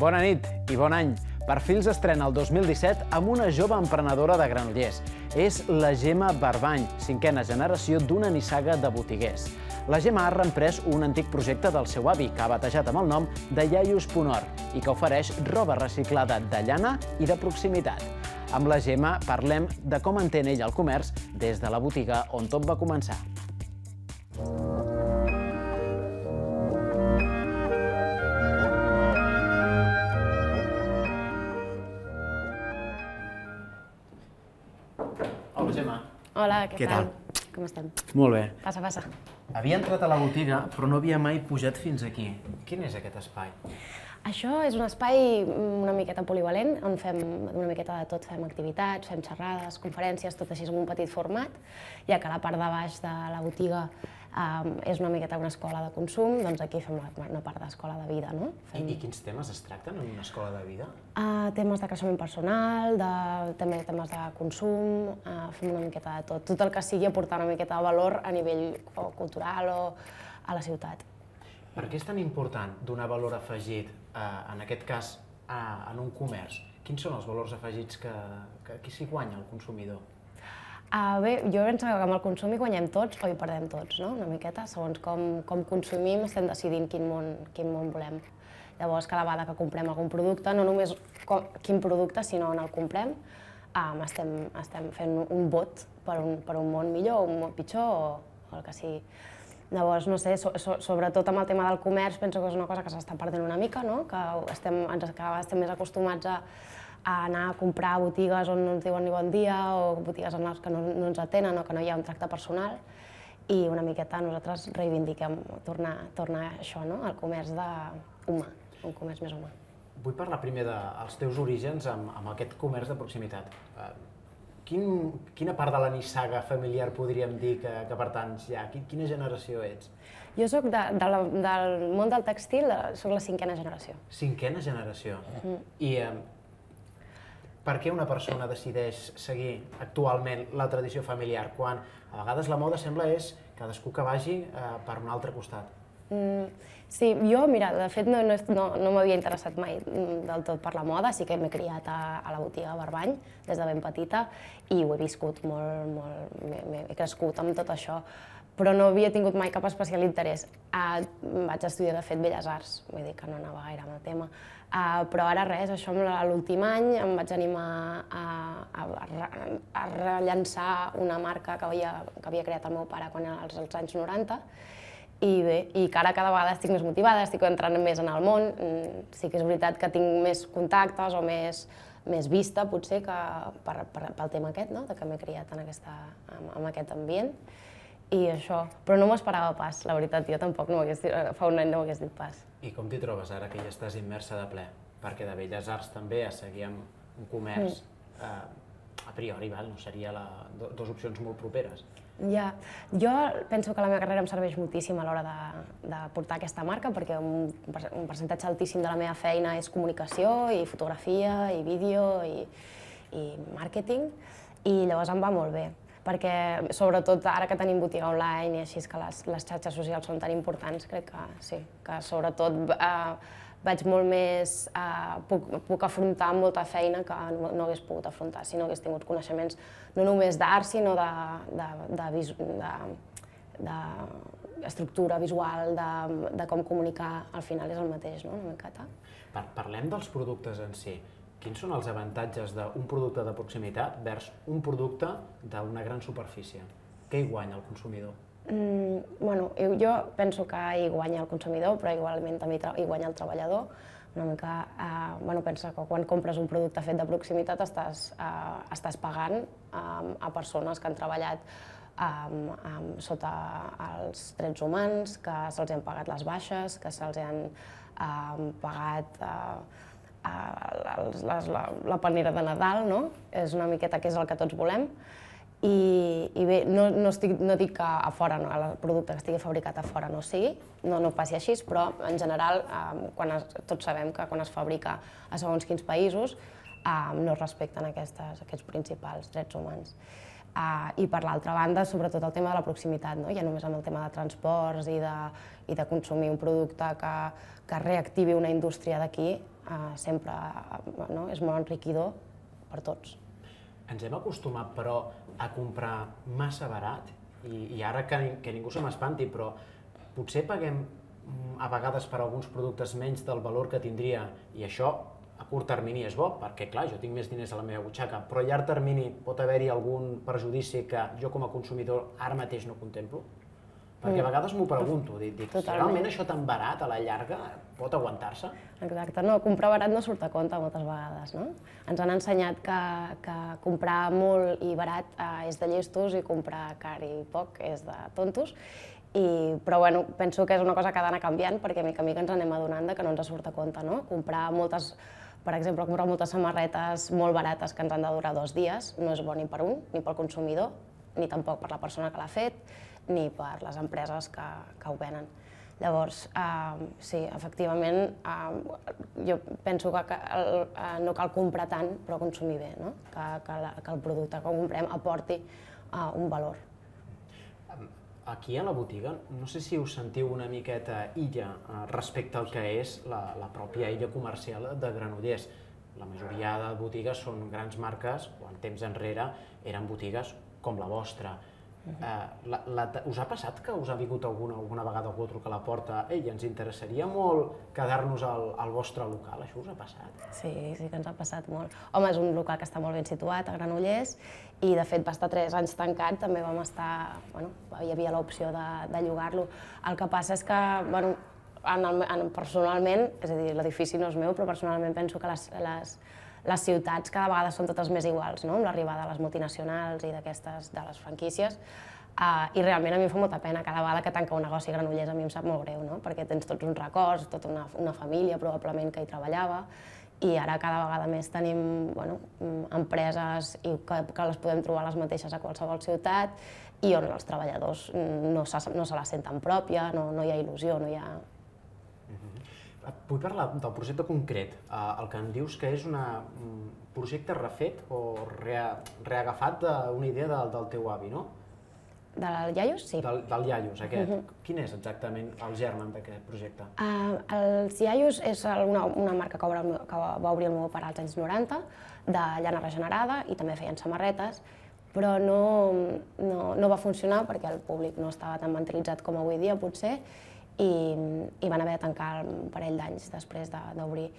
Bona nit i bon any. Perfils estrena el 2017 amb una jove emprenedora de Granollers. És la Gemma Barbany, cinquena generació d'una nissaga de botiguers. La Gemma ha reemprès un antic projecte del seu avi, que ha batejat amb el nom de Iaius.or i que ofereix roba reciclada de llana i de proximitat. Amb la Gemma parlem de com entén ell el comerç des de la botiga on tot va començar. Hola, Gemma. Hola, què tal? Com estem? Molt bé. Passa, passa. Havia entrat a la botiga, però no havia mai pujat fins aquí. Quin és aquest espai? Això és un espai una miqueta polivalent, on fem una miqueta de tot, fem activitats, fem xerrades, conferències, tot així en un petit format, ja que la part de baix de la botiga és una miqueta una escola de consum, doncs aquí fem una part d'escola de vida, no? I quins temes es tracten en una escola de vida? Temes de creixement personal, també temes de consum, fem una miqueta de tot. Tot el que sigui aportar una miqueta de valor a nivell cultural o a la ciutat. Per què és tan important donar valor afegit, en aquest cas, en un comerç? Quins són els valors afegits que s'hi guanya el consumidor? Bé, jo penso que amb el consum hi guanyem tots o hi perdem tots, no? Una miqueta, segons com consumim estem decidint quin món volem. Llavors, cada vegada que comprem algun producte, no només quin producte, sinó on el comprem, estem fent un vot per un món millor o un món pitjor o el que sigui. Llavors, no sé, sobretot amb el tema del comerç, penso que és una cosa que s'està perdent una mica, no? Que cada vegada estem més acostumats a anar a comprar a botigues on no ens diuen ni bon dia o botigues en les que no ens atenen o que no hi ha un tracte personal i una miqueta nosaltres reivindiquem tornar a això, no? El comerç humà, un comerç més humà. Vull parlar primer dels teus orígens amb aquest comerç de proximitat. Quina part de la nissaga familiar podríem dir que pertanys ja? Quina generació ets? Jo soc del món del tèxtil, soc la cinquena generació. Cinquena generació? I per què una persona decideix seguir actualment la tradició familiar, quan a vegades la moda sembla és cadascú que vagi per un altre costat? Sí, jo, mira, de fet no m'havia interessat mai del tot per la moda, sí que m'he criat a la botiga Barbany des de ben petita i ho he viscut molt, he crescut amb tot això, però no havia tingut mai cap especial interès. Vaig estudiar, de fet, Belles Arts, vull dir que no anava gaire amb el tema, però ara res, això l'últim any em vaig animar a rellançar una marca que havia creat el meu pare als anys 90, i bé, i que ara cada vegada estic més motivada, estic entrant més en el món, sí que és veritat que tinc més contactes o més vista, potser, pel tema aquest, que m'he criat en aquest ambient, i això. Però no m'ho esperava pas, la veritat, jo tampoc fa un any no m'ho hagués dit pas. I com t'hi trobes ara que ja estàs immersa de ple? Perquè de Belles Arts també a seguir amb un comerç, a priori, no serien dues opcions molt properes. Ja, jo penso que la meva carrera em serveix moltíssim a l'hora de portar aquesta marca perquè un percentatge altíssim de la meva feina és comunicació i fotografia i vídeo i màrqueting i llavors em va molt bé perquè sobretot ara que tenim botiga online i així que les xarxes socials són tan importants, crec que sí, que sobretot vaig molt més, puc afrontar molta feina que no hagués pogut afrontar si no hagués tingut coneixements no només d'art, sinó d'estructura visual, de com comunicar, al final és el mateix, no? Una miqueta. Parlem dels productes en si. Quins són els avantatges d'un producte de proximitat vers un producte d'una gran superfície? Què hi guanya el consumidor? Bueno, jo penso que hi guanya el consumidor, però igualment també hi guanya el treballador. Una mica, pensa que quan compres un producte fet de proximitat estàs pagant a persones que han treballat sota els drets humans, que se'ls han pagat les baixes, que se'ls han pagat la panera de Nadal, no? És una miqueta que és el que tots volem. I bé, no dic que a fora, el producte que estigui fabricat a fora no sigui, no passi així, però en general tots sabem que quan es fabrica a segons quins països no es respecten aquests principals drets humans. I per l'altra banda, sobretot el tema de la proximitat, ja només amb el tema de transports i de consumir un producte que reactivi una indústria d'aquí, sempre és molt enriquidor per tots. Ens hem acostumat, però, a comprar massa barat, i ara que ningú se m'espanti, però potser paguem a vegades per alguns productes menys del valor que tindria, i això a curt termini és bo, perquè clar, jo tinc més diners a la meva butxaca, però a llarg termini pot haver-hi algun perjudici que jo com a consumidor ara mateix no contemplo? Perquè a vegades m'ho pregunto, dic, realment això tan barat a la llarga pot aguantar-se? Exacte, no, comprar barat no surt a compte moltes vegades, no? Ens han ensenyat que comprar molt i barat és de llestos i comprar car i poc és de tontos, però bueno, penso que és una cosa que ha d'anar canviant perquè mica en mica ens anem adonant que no ens surt a compte, no? Per exemple, comprar moltes samarretes molt barates que ens han de durar 2 dies no és bo ni per un, ni pel consumidor, ni tampoc per la persona que l'ha fet, ni per les empreses que ho venen. Llavors, sí, efectivament, jo penso que no cal comprar tant, però consumir bé, no? Que el producte que comprem aporti un valor. Aquí a la botiga, no sé si us sentiu una miqueta illa respecte al que és la pròpia illa comercial de Granollers. La majoria de botigues són grans marques, o en temps enrere eren botigues com la vostra. Us ha passat que us ha vingut alguna vegada algú a trucar a la porta «Ei, ens interessaria molt quedar-nos al vostre local», això us ha passat? Sí, sí que ens ha passat molt. Home, és un local que està molt ben situat a Granollers i de fet va estar 3 anys tancat, també vam estar, bueno, hi havia l'opció de llogar-lo. El que passa és que, bueno, personalment, és a dir, l'edifici no és meu, però personalment penso que les ciutats cada vegada són totes més iguals, no? Amb l'arribada de les multinacionals i de les franquícies. I realment a mi em fa molta pena, cada vegada que tanca un negoci a Granollers a mi em sap molt greu, no? Perquè tens tots uns records, tota una família probablement que hi treballava, i ara cada vegada més tenim empreses que les podem trobar les mateixes a qualsevol ciutat i on els treballadors no se la senten pròpia, no hi ha il·lusió, no hi ha... Vull parlar del projecte concret, el que em dius que és un projecte refet o reagafat d'una idea del teu avi, no? Del Iaios? Sí. Del Iaios, aquest. Quin és exactament el germen d'aquest projecte? Els Iaios és una marca que va obrir el meu pare als anys 90, de llana regenerada, i també feien samarretes, però no va funcionar perquè el públic no estava tan mentalitzat com avui dia, potser, i van haver de tancar un parell d'anys després d'obrir.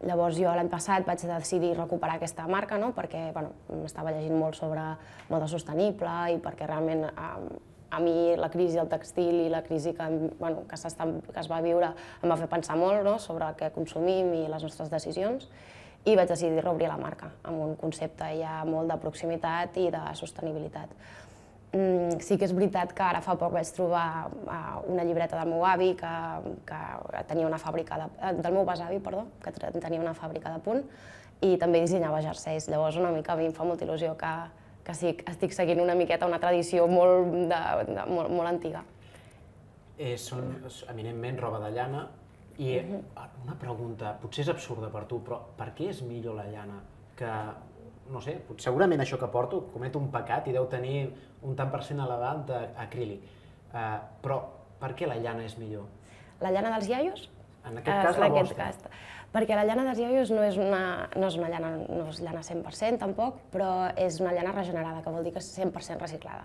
Llavors jo l'any passat vaig decidir recuperar aquesta marca perquè estava llegint molt sobre moda sostenible i perquè realment a mi la crisi del textil i la crisi que es va viure em va fer pensar molt sobre què consumim i les nostres decisions i vaig decidir reobrir la marca amb un concepte ja molt de proximitat i de sostenibilitat. Sí que és veritat que ara fa poc vaig trobar una llibreta del meu avi que tenia una fàbrica del meu besavi, perdó, que tenia una fàbrica de punt i també dissenyava jerseis. Llavors una mica a mi em fa molta il·lusió que sí, estic seguint una miqueta una tradició molt antiga. Són eminentment roba de llana i una pregunta, potser és absurda per tu, però per què és millor la llana que... No sé, segurament això que porto comet un pecat i deu tenir un tant per cent elevat d'acrílic. Però per què la llana és millor? La llana dels Iaios? En aquest cas la vostra. Perquè la llana dels Iaios no és llana 100% tampoc, però és una llana regenerada, que vol dir que és 100% reciclada.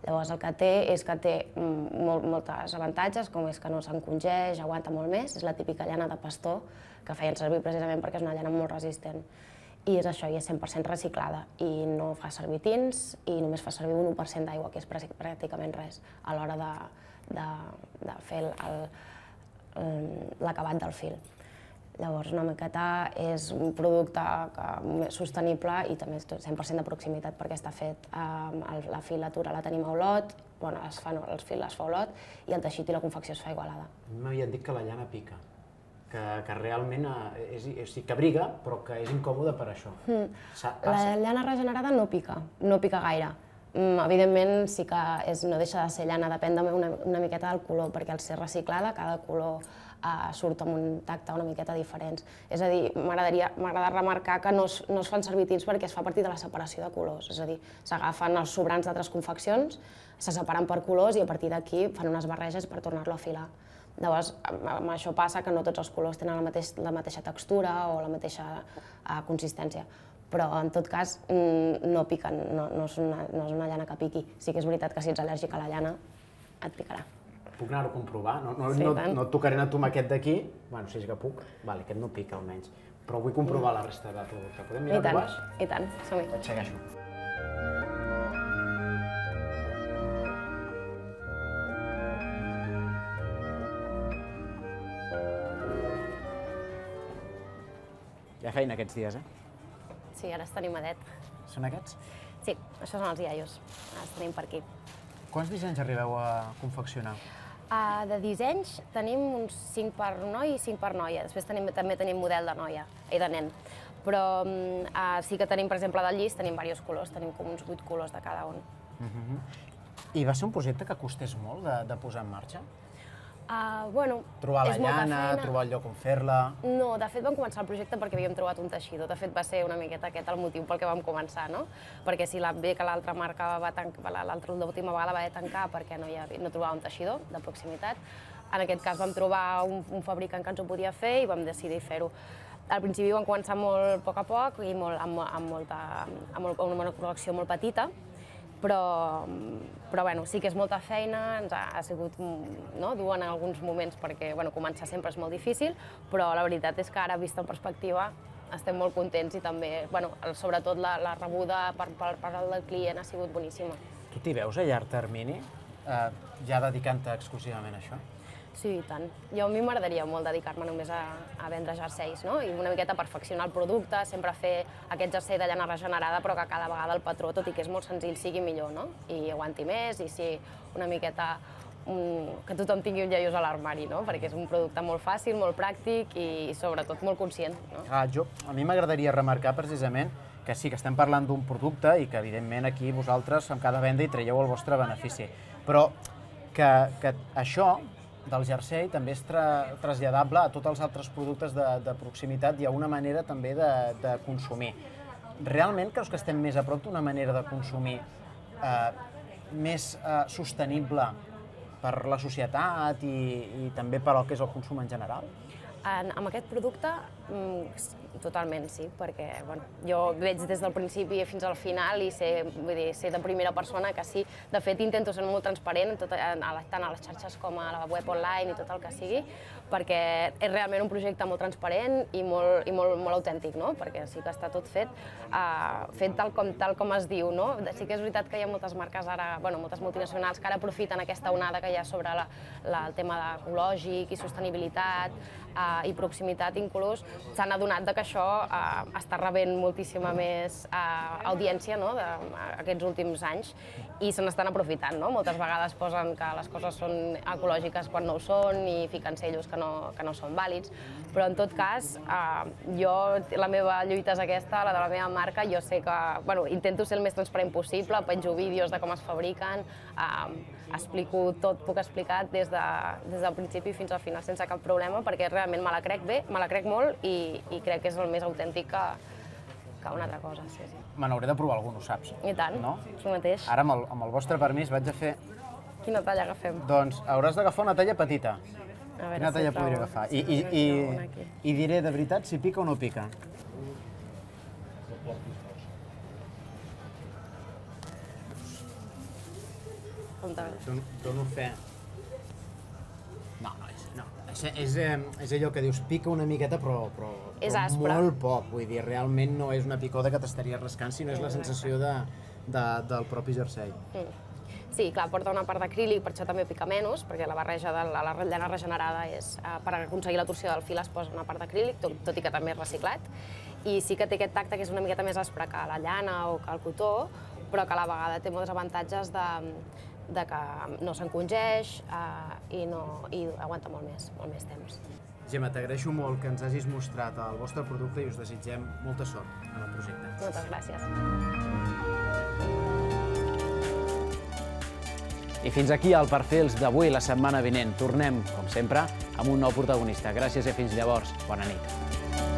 Llavors el que té és que té molts avantatges, com és que no s'encongeix, aguanta molt més, és la típica llana de pastor que feien servir precisament perquè és una llana molt resistent. I és això, i és 100% reciclada, i no fa servir tints, i només fa servir un 1% d'aigua, que és pràcticament res, a l'hora de fer l'acabat del fil. Llavors, una miqueta és un producte sostenible i també 100% de proximitat perquè està fet, la filatura la tenim a Olot, el fil es fa a Olot i el teixit i la confecció es fa a Igualada. M'havien dit que la llana pica. Que realment que briga, però que és incòmode per això. La llana regenerada no pica gaire. Evidentment sí que no deixa de ser llana, depèn una miqueta del color, perquè al ser reciclada cada color surt amb un tacte una miqueta diferents. És a dir, m'agrada remarcar que no es fan servir tints perquè es fa a partir de la separació de colors, és a dir, s'agafen els sobrants d'altres confeccions, se separen per colors i a partir d'aquí fan unes barreges per tornar-lo a filar. Llavors, amb això passa que no tots els colors tenen la mateixa textura o la mateixa consistència, però en tot cas no piquen, no és una llana que piqui. Sí que és veritat que si ets al·lèrgic a la llana et picarà. Puc anar-ho a comprovar? No et tocaré anar a tomar aquest d'aquí, bueno, si és que puc, vale, aquest no pica almenys, però vull comprovar la resta de producte. Podem mirar-ho baix? I tant, som-hi. Et segueixo. Hi ha feina aquests dies, Sí, ara estem animadet. Són aquests? Sí, això són els iaios, els tenim per aquí. Quants dissenys arribeu a confeccionar? De dissenys tenim uns 5 per noi i 5 per noia. Després també tenim model de noia i de nen. Però sí que tenim, per exemple, del llis, tenim diversos colors, tenim com uns 8 colors de cada un. I va ser un projecte que costés molt de posar en marxa? Bueno, trobar la llana, trobar el lloc on fer-la... No, de fet vam començar el projecte perquè havíem trobat un teixidor. De fet va ser una miqueta aquest el motiu pel que vam començar, no? Perquè si bé que l'altra marca va tancar, l'última vegada va tancar perquè no trobava un teixidor de proximitat. En aquest cas vam trobar un fabricant que ens ho podia fer i vam decidir fer-ho. Al principi vam començar molt a poc i amb una col·lecció molt petita, però bueno, sí que és molta feina, ens ha sigut dur en alguns moments perquè començar sempre és molt difícil, però la veritat és que ara, vista en perspectiva, estem molt contents i també, sobretot la rebuda per part del client ha sigut boníssima. Tu t'hi veus a llarg termini, ja dedicant-te exclusivament a això? Sí, i tant. A mi m'agradaria molt dedicar-me només a vendre jerseis, no? I una miqueta perfeccionar el producte, sempre fer aquest jersei de llana regenerada, però que cada vegada el patró, tot i que és molt senzill, sigui millor, no? I aguanti més, i sí, una miqueta que tothom tingui un iaios a l'armari, no? Perquè és un producte molt fàcil, molt pràctic i sobretot molt conscient, no? A mi m'agradaria remarcar precisament que sí, que estem parlant d'un producte i que evidentment aquí vosaltres amb cada venda hi traieu el vostre benefici, però que això del jersei també és traslladable a tots els altres productes de proximitat i a una manera també de consumir. Realment creus que estem més a prop d'una manera de consumir més sostenible per la societat i també per al que és el consum en general? Amb aquest producte, totalment sí, perquè jo veig des del principi fins al final i sé de primera persona que sí. De fet, intento ser molt transparent tant a les xarxes com a la web online i tot el que sigui, perquè és realment un projecte molt transparent i molt autèntic, perquè sí que està tot fet tal com es diu. Sí que és veritat que hi ha moltes marques ara, moltes multinacionals que ara aprofiten aquesta onada que hi ha sobre el tema ecològic i sostenibilitat i proximitat inclús, s'han adonat que això està rebent moltíssima més audiència aquests últims anys i se n'estan aprofitant. Moltes vegades posen que les coses són ecològiques quan no ho són i fiquen sellos que no són vàlids, però en tot cas la meva lluita és aquesta, la de la meva marca. Jo sé que intento ser el més transparent possible, penjo vídeos de com es fabriquen, explico tot, puc explicar des del principi fins al final sense cap problema, perquè realment me la crec bé, me la crec molt i crec que és el més autèntic que una altra cosa. Me n'hauré de provar algun, ho saps? I tant, tu mateix. Ara, amb el vostre permís, vaig a fer... Quina talla agafem? Doncs hauràs d'agafar una talla petita. Quina talla podria agafar? I diré de veritat si pica o no pica. Dono fe. No, és allò que dius, pica una miqueta, però molt poc. Vull dir, realment no és una picada que t'estaria rascant, sinó és la sensació del propi jersei. Sí, clar, porta una part d'acrílic, per això també pica menys, perquè la barreja de la llana regenerada és, per aconseguir la torsió del fil es posa una part d'acrílic, tot i que també és reciclat. I sí que té aquest tacte que és una miqueta més aspre que la llana o que el cotó, però que a la vegada té molts avantatges de que no s'encongeix i aguanta molt més temps. Gemma, t'agraeixo molt que ens hagis mostrat el vostre producte i us desitgem molta sort en el projecte. Moltes gràcies. I fins aquí el Perfils d'avui, la setmana vinent. Tornem, com sempre, amb un nou protagonista. Gràcies i fins llavors. Bona nit.